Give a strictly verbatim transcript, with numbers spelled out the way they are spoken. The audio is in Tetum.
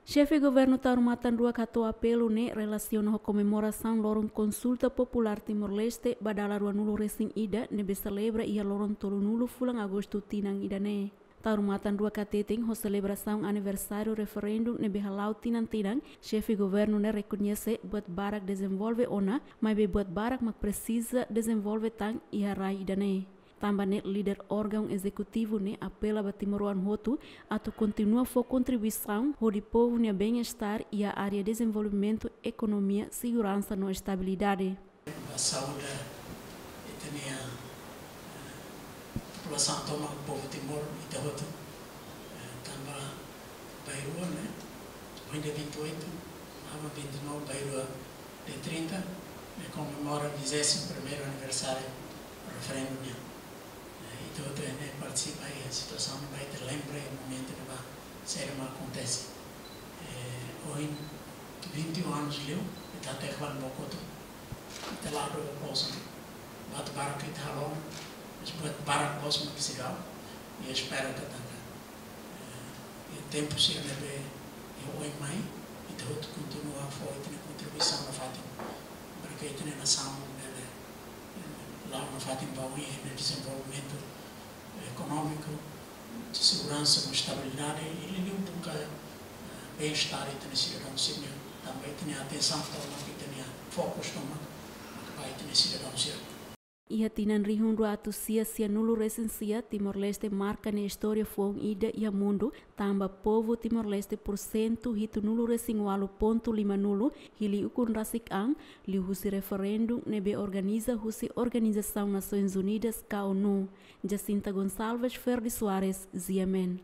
Xefe Governu Taur Matan Ruak hato'o apelu ne'e relasiona ho komemorasaun loron Konsulta Populár Timor-Leste ba dala ruanulu resin ida ne'ebé selebra iha loron tolunulu fulan Agostu tinan ida-ne'e. Taur Matan Ruak hateten ho selebrasaun aniversáriu referendu ne'ebé hala'o tinan-tinan, Xefe Governu ne'e rekoñese buat barak dezenvolve ona, maibé buat barak mak presiza dezenvolve tan iha rai ida-ne'e. Tanba ne'e líder órgaun ezekutivu ne'e apela ba timoroan hotu atu kontinua fó kontribuisaun hodi povu nia bem-estar iha área dezenvolvimentu, ekonomia, seguransa no estabilidade. Ba saúde ita-nia, eh, populasaun tomak, povu Timor ita hotu. Eh, tanba bainrua ne'e, ohin dia vinte e oito, aban vinte e nove, bainrua dia trinta, ne'e komemora vigésimo primeiro aniversário referendu nian. Eh, ita hotu ne'e partisipa iha situasaun ne'ebá, ita lembra iha momentu ne'ebá, saida mak akontese. Eh, ohin vinte e um anos liu, ita hateke ba bokotu, ita la'o dook ba povu, buat barak ita halo, mas buat barak mós mak seidauk, i espera katak, eh, iha tempu sira ne'ebé iha oin mai, ita hotu kontinua fó ita-nia kontribuisaun nafatin, para que ita-nia nasaun bele, eh, la'o nafatin ba oin iha dezenvolvimentu ekonómiku, seguransa no estabilidade, i liuliu buka, eh, bem-estar ita-nia sidadaun sira-nian, tanba ita-nia atensaun tomak, ita-nia fokus tomak, mak ba ita-nia sidadaun sira. Iha tinan rihun rua atus sia sianulu resin sia, Timor-Leste marka nia istória foun ida iha mundu, tanba povu Timor-Leste pursentu hitunulu resin ualu pontu limanulu hili ukun rasik an, liuhusi referendu ne'ebé organiza husi Organizasaun Nasoins Unidas ka ONU. Jacinta Gonçalves, Ferdi Soares, G M N.